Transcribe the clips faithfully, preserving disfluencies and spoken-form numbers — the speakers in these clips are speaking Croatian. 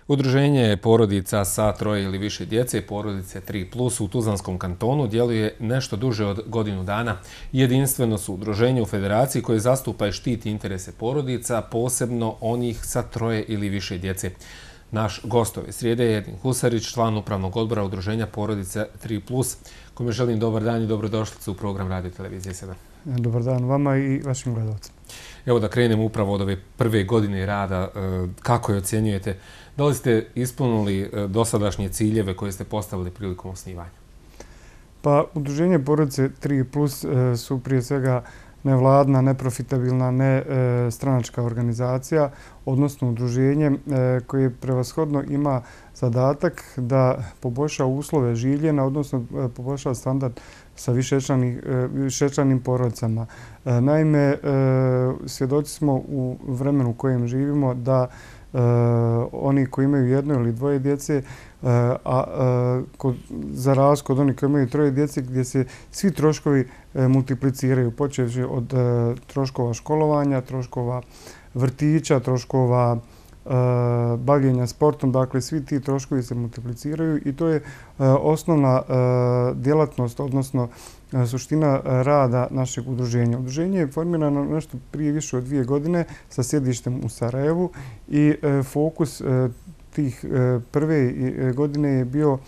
Udruženje porodica sa troje ili više djece, porodice tri plus u Tuzlanskom kantonu djeluje nešto duže od godinu dana. Jedinstveno su udruženje u federaciji koje zastupa i štiti interese porodica, posebno onih sa troje ili više djece. Naš gost ove srijede je Edin Husarić, član upravnog odbora udruženja porodice tri plus, kome želim dobar dan i dobrodošlicu u program Radio Televizije sedam. Dobar dan vama i vašim gledalcima. Evo da krenemo upravo od ove prve godine rada. Kako je ocjenjujete? Da li ste ispunili dosadašnje ciljeve koje ste postavili prilikom osnivanja? Pa, udruženje porodice tri plus su prije svega nevladna, neprofitabilna, ne stranačka organizacija, odnosno udruženje koje prevashodno ima zadatak da poboljša uslove življenja, odnosno poboljša standard sa višečlanim porodicama. Naime, svjedoci smo u vremenu u kojem živimo da oni koji imaju jedno ili dvoje djece, a za razliku od onih koji imaju troje djece, gdje se svi troškovi multipliciraju, počevši od troškova školovanja, troškova vrtića, troškova bavljenja sportom, dakle svi ti troškovi se multipliciraju i to je osnovna djelatnost, odnosno suština rada našeg udruženja. Udruženje je formirano nešto prije više od dvije godine sa sjedištem u Sarajevu i fokus tih prve godine je bio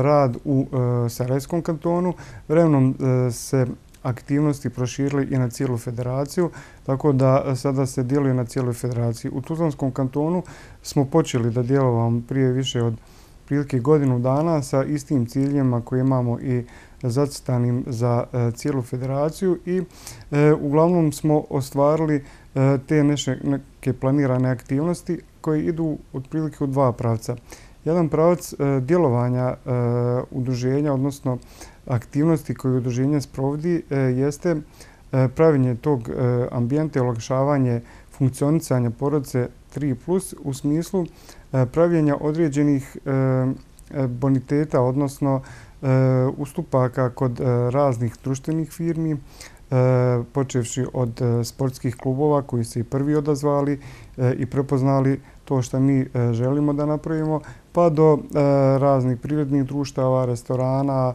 rad u Sarajevskom kantonu. Vremenom se aktivnosti proširili i na cijelu federaciju, tako da sada se djeluje na cijeloj federaciji. U Tuzlanskom kantonu smo počeli da djelujemo prije više od prilike godinu dana sa istim ciljima koje imamo i zacrtanim za cijelu federaciju i uglavnom smo ostvarili te neke planirane aktivnosti koje idu otprilike u dva pravca. Jedan pravac djelovanja udruženja, odnosno aktivnosti koje udruženje sprovodi, jeste praviljenje tog ambijenta i olakšavanje funkcionisanja porodice tri plus u smislu pravljenja određenih boniteta, odnosno ustupaka kod raznih društvenih firmi, počevši od sportskih klubova koji se i prvi odazvali i prepoznali to što mi želimo da napravimo, pa do raznih privrednih društava, restorana,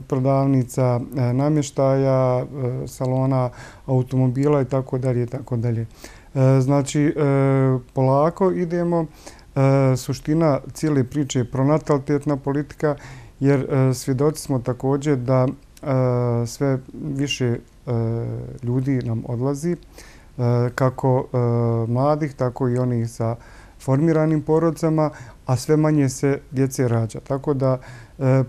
prodavnica namještaja, salona automobila i tako dalje i tako dalje. Znači, polako idemo. Suština cijele priče je pronatalitetna politika, jer svjedoci smo također da sve više ljudi nam odlazi, kako mladih, tako i onih sa formiranim porodicama, a sve manje se djece rađa. Tako da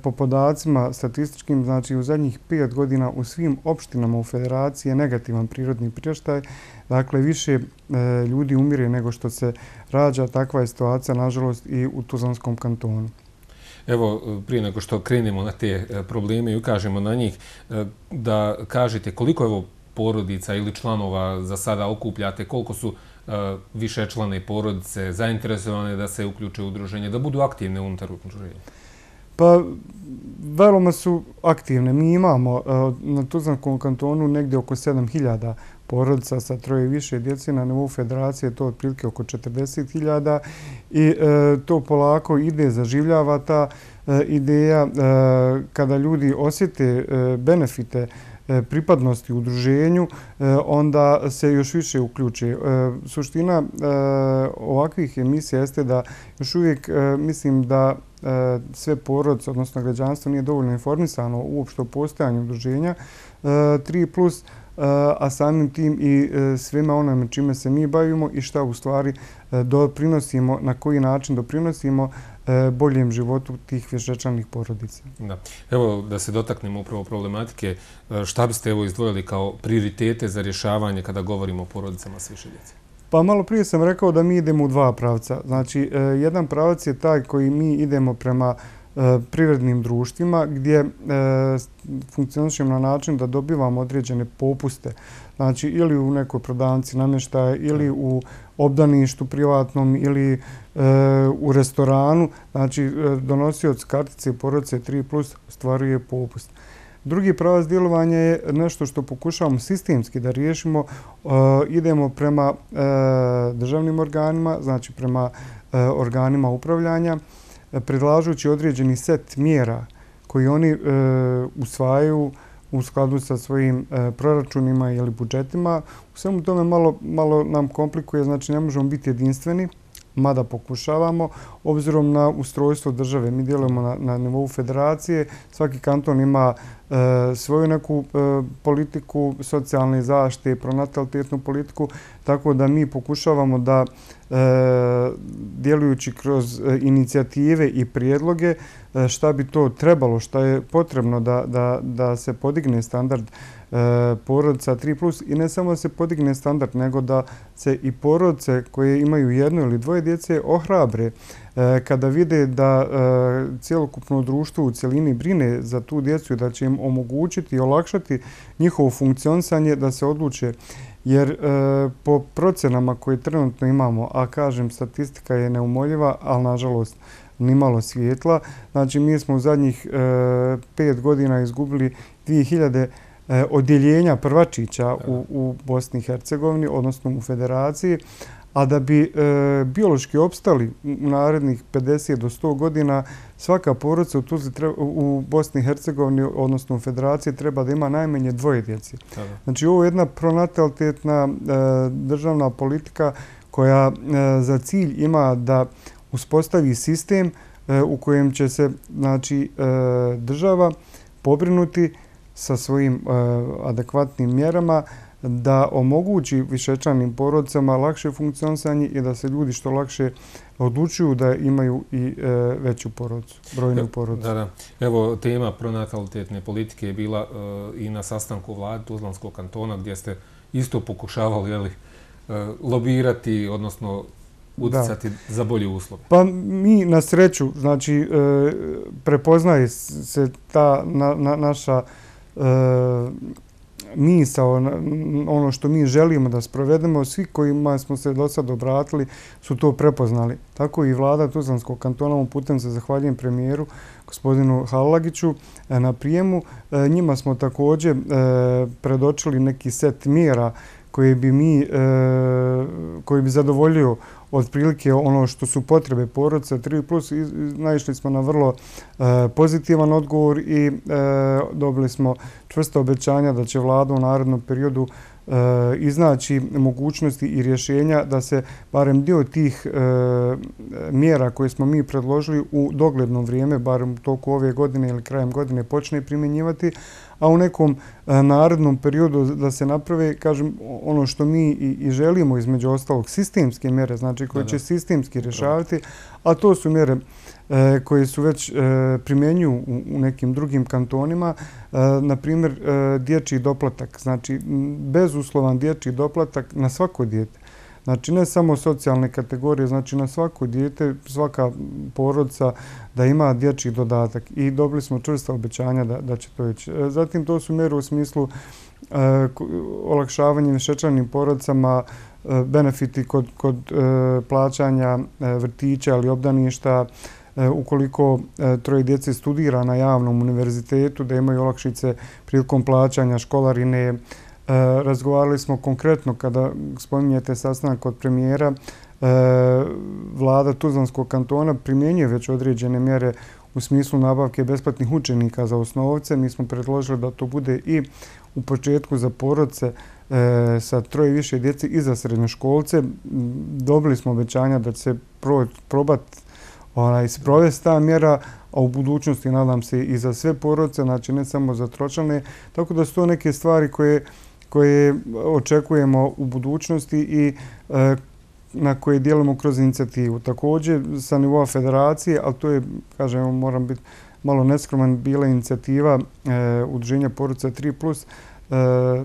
po podacima statističkim, znači u zadnjih pet godina u svim opštinama u federaciji je negativan prirodni priraštaj. Dakle, više ljudi umire nego što se rađa. Takva je situacija, nažalost, i u Tuzlanskom kantonu. Evo, prije nego što krenemo na te probleme i ukažemo na njih, da kažete koliko je porodica ili članova za sada okupljate, koliko su višečlane porodice zainteresovane da se uključe u udruženje, da budu aktivne unutar udruženja? Pa, veoma su aktivne. Mi imamo na Tuzlanskom kantonu negdje oko sedam hiljada porodica sa troje i više djece. Na nivou federacije to otprilike oko četrdeset hiljada i to polako ide, zaživljava ta ideja. Kada ljudi osjete benefite pripadnosti udruženju, onda se još više uključe. Suština ovakvih emisija jeste da još uvijek mislim da sve porodice, odnosno građanstvo, nije dovoljno informisano uopšte o postojanju udruženja tri plus, a samim tim i svima onome čime se mi bavimo i šta u stvari doprinosimo, na koji način doprinosimo boljem životu tih višečlanih porodica. Da. Evo da se dotaknemo upravo problematike, šta biste evo izdvojili kao prioritete za rješavanje kada govorimo o porodicama s više djece? Pa malo prije sam rekao da mi idemo u dva pravca. Znači, jedan pravac je taj koji mi idemo prema privrednim društvima gdje funkcionišemo na način da dobivamo određene popuste. Znači, ili u nekoj prodavnici namještaja, ili u obdaništu privatnom, ili u restoranu. Znači, donosioc kartice porodice tri plus ostvaruje popust. Drugi pravac djelovanja je nešto što pokušavamo sistemski da riješimo. Idemo prema državnim organima, znači prema organima upravljanja, predlažući određeni set mjera koji oni usvajaju u skladu sa svojim proračunima ili budžetima. U svemu tome malo, malo nam komplikuje, znači ne možemo biti jedinstveni, mada pokušavamo, obzirom na ustrojstvo države. Mi djelujemo na, na nivou federacije, svaki kanton ima e, svoju neku e, politiku socijalne zaštite, pronatalitetnu politiku, tako da mi pokušavamo da e, djelujući kroz e, inicijative i prijedloge e, šta bi to trebalo, šta je potrebno da, da, da se podigne standard e, porodica tri plus i ne samo da se podigne standard, nego da se i porodice koje imaju jedno ili dvoje djece ohrabre e, kada vide da e, cjelokupno društvo u cjelini brine za tu djecu i da će im omogućiti i olakšati njihovo funkcionisanje da se odluče. Jer e, po procenama koje trenutno imamo, a kažem statistika je neumoljiva, ali nažalost nimalo svijetla, znači mi smo u zadnjih e, pet godina izgubili dvije hiljade e, odjeljenja prvačića u, u Bosni i Hercegovini, odnosno u Federaciji, a da bi e, biološki opstali u narednih pedeset do sto godina, svaka porodica u, Tuzli treba, u Bosni i Hercegovini, odnosno u Federaciji, treba da ima najmanje dvoje djece. Znači ovo je jedna pronatalitetna e, državna politika koja e, za cilj ima da uspostavi sistem e, u kojem će se znači, e, država pobrinuti sa svojim e, adekvatnim mjerama da omogući višečlanim porodicama lakše funkcionisanje i da se ljudi što lakše odlučuju da imaju i e, veću porodicu, brojnu porodicu. Da, da. Evo, tema pronatalitetne politike je bila e, i na sastanku vlade Tuzlanskog kantona gdje ste isto pokušavali jeli, e, lobirati, odnosno utjecati za bolje uslove. Pa mi na sreću, znači e, prepoznaje se ta na, na, naša e, misao, ono što mi želimo da sprovedemo, svi kojima smo se do sad obratili su to prepoznali. Tako i vlada Tuzlanskog kantona, ovom putem se zahvaljujem premijeru gospodinu Halagiću na prijemu. Njima smo također predočili neki set mjera koji bi mi, koji bi zadovoljio otprilike ono što su potrebe porodice tri plus. Naišli smo na vrlo pozitivan odgovor i dobili smo čvrsta obećanja da će vlada u narednom periodu iznaći mogućnosti i rješenja da se barem dio tih mjera koje smo mi predložili u dogledno vrijeme, barem toliko ove godine ili krajem godine, počne primjenjivati, a u nekom narednom periodu da se naprave, kažem, ono što mi i želimo, između ostalog, sistemske mjere, znači koje će sistemski rješavati, a to su mjere koje su već primjenjuju u nekim drugim kantonima, na primjer dječji doplatak, znači bezuslovan dječji doplatak na svako dijete. Znači ne samo socijalne kategorije, znači na svako dijete, svaka porodica da ima dječji dodatak i dobili smo čvrsta obećanja da, da će to ići. Zatim to su mjere u smislu e, olakšavanja višečlanim porodicama, e, benefiti kod, kod e, plaćanja e, vrtića ili obdaništa, e, ukoliko e, troje djece studira na javnom univerzitetu, da imaju olakšice prilikom plaćanja školarine. Razgovarali smo konkretno, kada spominjete sastanak kod premijera, vlada Tuzlanskog kantona primjenjuje već određene mjere u smislu nabavke besplatnih učenika za osnovce. Mi smo predložili da to bude i u početku za porodice sa troje više djece i za srednjoškolce. Dobili smo obećanja da će se probati sprovesti ta mjera, a u budućnosti nadam se i za sve porodice, znači ne samo za tročlane. Tako da su to neke stvari koje koje očekujemo u budućnosti i e, na koje dijelimo kroz inicijativu. Također sa nivoa federacije, ali to je, kažem, moram biti malo neskroman, bila inicijativa e, udruženja porodica tri plus, e,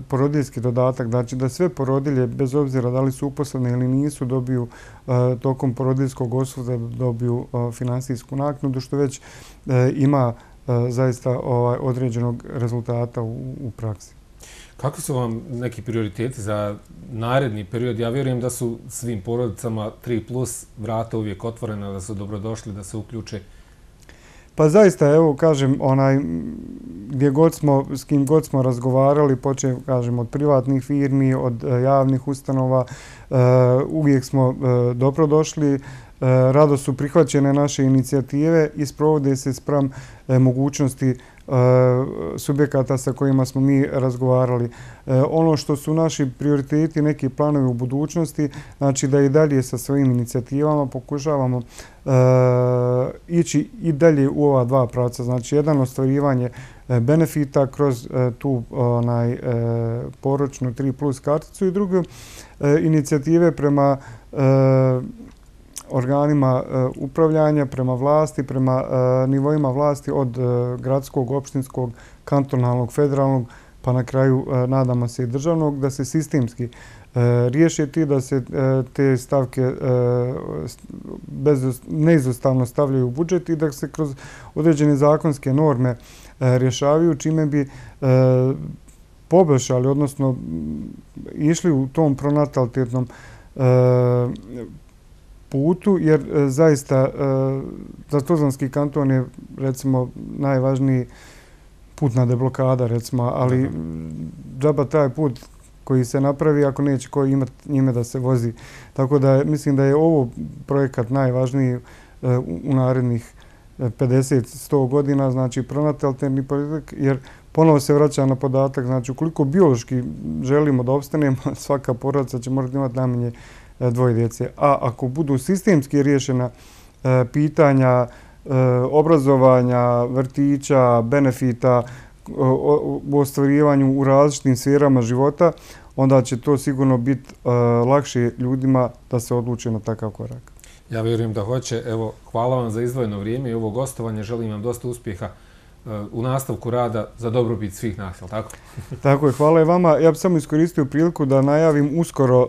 porodiljski dodatak, znači da sve porodilje, bez obzira da li su uposlene ili nisu, dobiju e, tokom porodiljskog odsustva da dobiju e, finansijsku naknadu, što već e, ima e, zaista ovaj, određenog rezultata u, u praksi. Kako su vam neki prioriteti za naredni period? Ja vjerujem da su svim porodicama tri plus vrata uvijek otvorena, da su dobrodošli, da se uključe. Pa zaista, evo, kažem, onaj, gdje god smo, s kim god smo razgovarali, počeo, kažem, od privatnih firmi, od javnih ustanova, uvijek smo dobrodošli. rado su prihvaćene naše inicijative i sprovode se spram mogućnosti subjekata sa kojima smo mi razgovarali. Ono što su naši prioriteti, neki planovi u budućnosti, znači da i dalje sa svojim inicijativama pokušavamo ići i dalje u ova dva pravca. Znači, jedan ostvarivanje benefita kroz tu onaj, poročnu tri plus karticu i drugo inicijative prema organima upravljanja, prema vlasti, prema nivoima vlasti od gradskog, opštinskog, kantonalnog, federalnog, pa na kraju nadamo se i državnog, da se sistemski riješe ti, da se te stavke neizostavno stavljaju u budžet i da se kroz određene zakonske norme rješavaju, čime bi poboljšali, odnosno išli u tom pronatalitetnom putu, jer zaista za Tuzlanski kanton je recimo najvažniji putna deblokada, recimo, ali džaba taj put koji se napravi ako neće ko imati njime da se vozi. Tako da mislim da je ovo projekat najvažniji u narednih pedeset do sto godina, znači pronatalitetni projekat, jer ponovo se vraća na podatak, znači ukoliko biološki želimo da opstanemo, svaka porodica će morati imati najmanje dvoje djece. A ako budu sistemski riješena pitanja obrazovanja, vrtića, benefita, u ostvarivanju u različitim sferama života, onda će to sigurno biti lakše ljudima da se odluče na takav korak. Ja vjerujem da hoće. Evo, hvala vam za izdvojeno vrijeme i ovo gostovanje. Želim vam dosta uspjeha u nastavku rada za dobrobit svih nas, je li tako? Tako je, hvala i vama. Ja bih samo iskoristio priliku da najavim, uskoro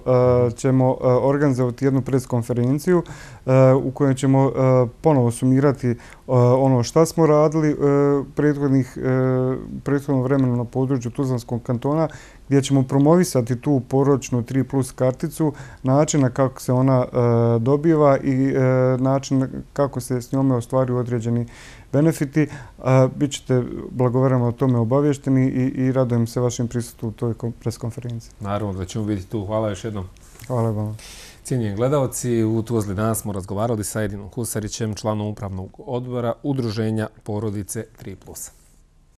ćemo organizovati jednu preskonferenciju u kojoj ćemo ponovo sumirati ono šta smo radili prethodnom vremenu na području Tuzlanskog kantona, gdje ćemo promovisati tu poročnu tri plus karticu, načina kako se ona dobiva i način kako se s njome ostvaruju određeni benefiti. Bićete blagovremeno o tome obavješteni i radujem se vašem prisustvu u toj preskonferenciji. Naravno da ćemo vidjeti tu. Hvala još jednom. Hvala vam. Cijenjeni gledalci, u Tuzli danas smo razgovarali sa Edinom Husarićem, članom upravnog odbora Udruženja porodice tri plus.